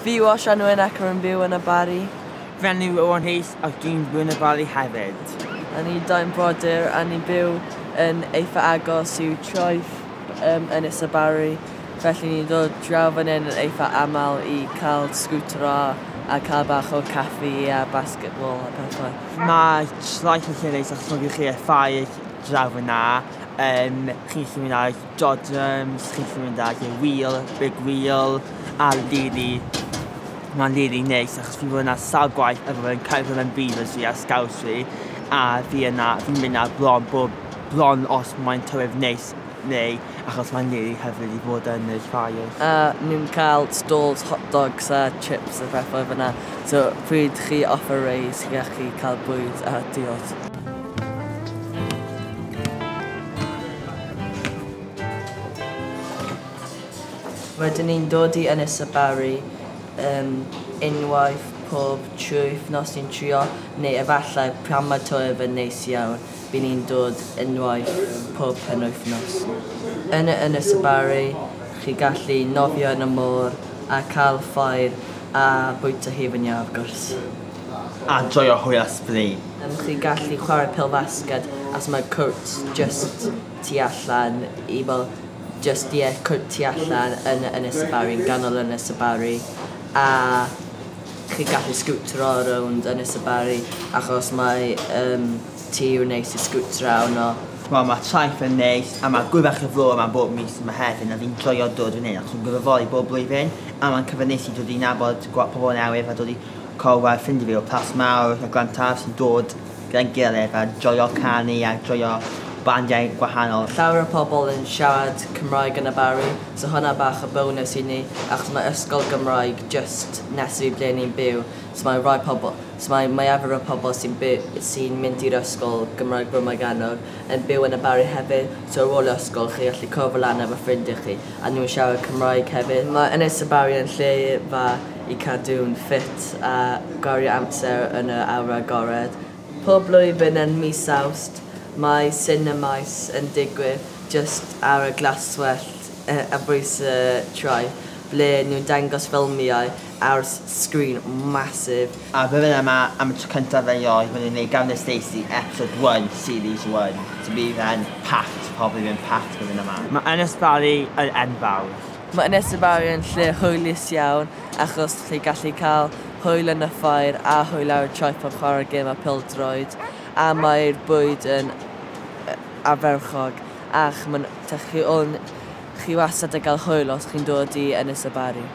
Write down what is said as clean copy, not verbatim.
Fi yw Osian Wyn ac rwy'n byw yn y Barri. Fy enw yw Owen Rhys ac dwi'n byw yn y Barri hefyd. A ni dau'n brodyr a ni'n byw yn eitha agos i'w traeth Ynys y Barri. Felly ni'n dod draw fan hyn yn eitha aml i cael sgwtero a cael bach o caffi a basketball a pethau. Mae traeth yn lle neis achos mae gennych chi y ffair draw fyna. Chi'n gallu mynd ar dodrums, chi'n gallu mynd ar y wheel, big wheel, a really, mae'n really neis achos fi'n bod yna sawl gwaith efo fy Cerdded yn Beavers fi a Scouts fi, a fi yna, fi'n mynd ar bron bob, bron os mae'n tywydd neis neu achos mae'n really hyfryd i fod yn y ffair. A ni'n cael stalls hot dogs a chips a pethau fyna. So pryd chi off y race, chi gallu cael bwyd a diod. Rydyn ni'n dod i Ynys y Barri unwaith pob 3 wythnos ni'n trio, neu efallai pan mae tywydd yn neis iawn, bydd ni'n dod unwaith pob penwythnos. Yn y Ynys y Barri, chi gallu nofio yn y môr a cael ffair a bwyta hufen iâ, wrth gwrs. A joio hwyl a sbri. Chi gallu chwarae pêl-fasged as mae cwrt just tu allan i fel just ie, cwrt tu allan yn Ynys y Barri, yn ganol Ynys y Barri. A chi gallu sgwtero rownd Ynys y Barri achos mae tir neis i sgwtero arno. Wel, mae traeth yn neis a mae gwybach y fro yma bob mis yma hefyd a fi'n joio dod fan hyn achos fi'n gwirfoddoli bob blwyddyn a mae'n cyfle neis i dod i nabod pobl newydd a dod i cwrdd â ffrindiau fi o Plas Mawr a Glantaf sy'n dod gyda'n gilydd a joio canu a joio bandiau gwahanol. Llawer o pobl yn siarad Cymraeg yn y Barri, so hwnna bach o bonus i ni, achos mae ysgol Gymraeg just nes i ble ni'n byw, so mae rai pobl, so mae mwyafrif o pobl sy'n sy'n mynd i'r ysgol Gymraeg Bro Morgannwg yn byw yn y Barri hefyd, so ar ôl ysgol chi gallu cwrdd lan efo ffrindiau chi, a nhw'n siarad Cymraeg hefyd. Mae Ynys y Barri yn lle fa i cadw'n ffit a gwario amser yn y awyr agored. Pob blwyddyn yn mis Awst, mae Cinemaes yn digwydd just ar y glaswellt ar bwys y traeth, ble nhw'n dangos ffilmiau ar sgrin massive. A bydd yma am y tro cyntaf erioed, maen nhw'n gwneud Gavin and Stacey episode 1, series 1. So bydd e'n packed, probably bydd yn packed bydd yma. Mae Ynys Barri yn enfawr. Mae Ynys y Barri yn lle hwylus iawn, achos chi gallu cael hwyl yn y ffair a hwyl ar y traeth pan chwarae gêm a pêl-droed. A mae'r bwyd yn aferchog, ac chi wastad yn cael hwyl os chi'n dod i Ynys y Barri.